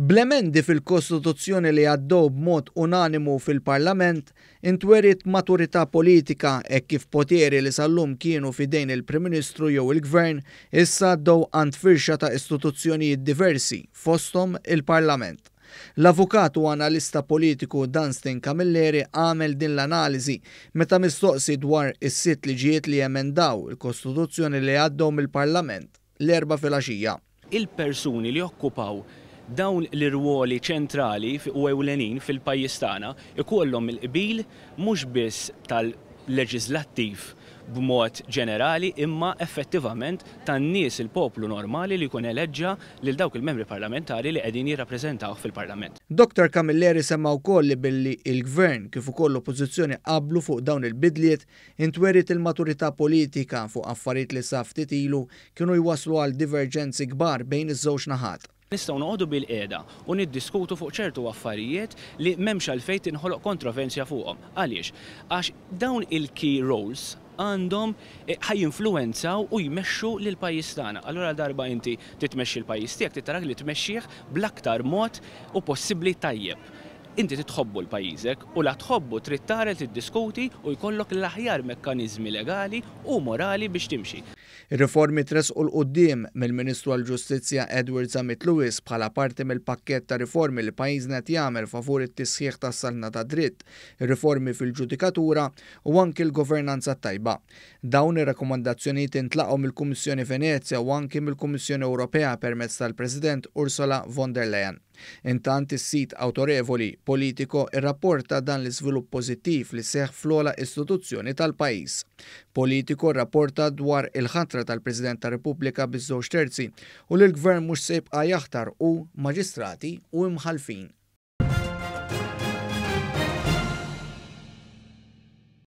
Bl-emendi fil-Kostituzzjoni li għaddew b'mod unanimu fil-Parlament, intweriet maturità politika hekk kif poteri li sal-lum kienu f'idejn il-Prim Ministru jew il-Gvern issa għaddew għand firxa ta' istituzzjonijiet diversi, fosthom il-Parlament. L-avukat u analista politiku Dunstan Camilleri għamel din l-analiżi meta mistoqsi dwar is-sitt liġijiet li emendaw il-Kostituzzjoni li għaddew mill-Parlament l-Erbgħa filgħaxija. Il-persuni li jokkupaw dawn l-irwoli ċentrali u ewlenin fil-pajjiż tagħna jkollhom il-qbil mhux biss tal-leġiżlattiv b'mod ġenerali imma effettivament tan-nies, il-poplu normali li jkun eleġġa lil dawk il-membri parlamentari li qegħdin jirrappreżentawh fil-Parlament. Dottor Camilleri semma wkoll li billi l-Gvern kif ukoll l-Oppożizzjoni qablu fuq dawn il-bidliet, intweriet il-maturità politika fuq affarijiet li sa ftit ilu kienu jwasslu għal diverġenzi kbar bejn iż-żewġ naħat. Nistgħu noqogħdu bilqiegħda u niddiskutu fuq ċertu affarijiet li m'hemmx għalfejn tinħoloq kontrovensja fuqhom. Għaliex? Għax dawn il-key roles għandhom ħa jinfluwenzaw u jmexxu lill-pajjiż tagħna. Allura ladarba inti trid tmexxi l-pajjiż tiegħek trid tarak li tmexxih bl-aktar mod u possibbli tajjeb. Inti trid tħobbu l-pajjiżek u la tħobbu trid tara li tiddiskuti u jkollok l-aħjar mekkaniżmi legali u morali biex timxi. Ir-riformi tressqu 'l quddiem mill-Ministru għall-Ġustizzja Edward Zammit Lewis bħala parti mill-pakkett ta' riformi li pajjiżna qed jagħmel favur it-tisħiħ tas-saltna tad-dritt, ir-riformi fil-ġudikatura u anki l-governanza t-tajba. Dawn ir-rakkomandazzjonijiet intlaqgħu mill-Kummissjoni Venezja u anki mill-Kummissjoni Ewropea permezz tal-President Ursula von der Leyen. Intant is-sit awtorevoli Politico rrapporta dan l-iżvilupp pożittiv li seħħ fl-ogħla istituzzjoni tal-pajjiż. Politico rrapporta dwar il-ħatra tal-President tar-Repubblika biż-żewġ terzi u li l-Gvern mhux se jibqa' jaħtar hu maġistrati u imħallfin.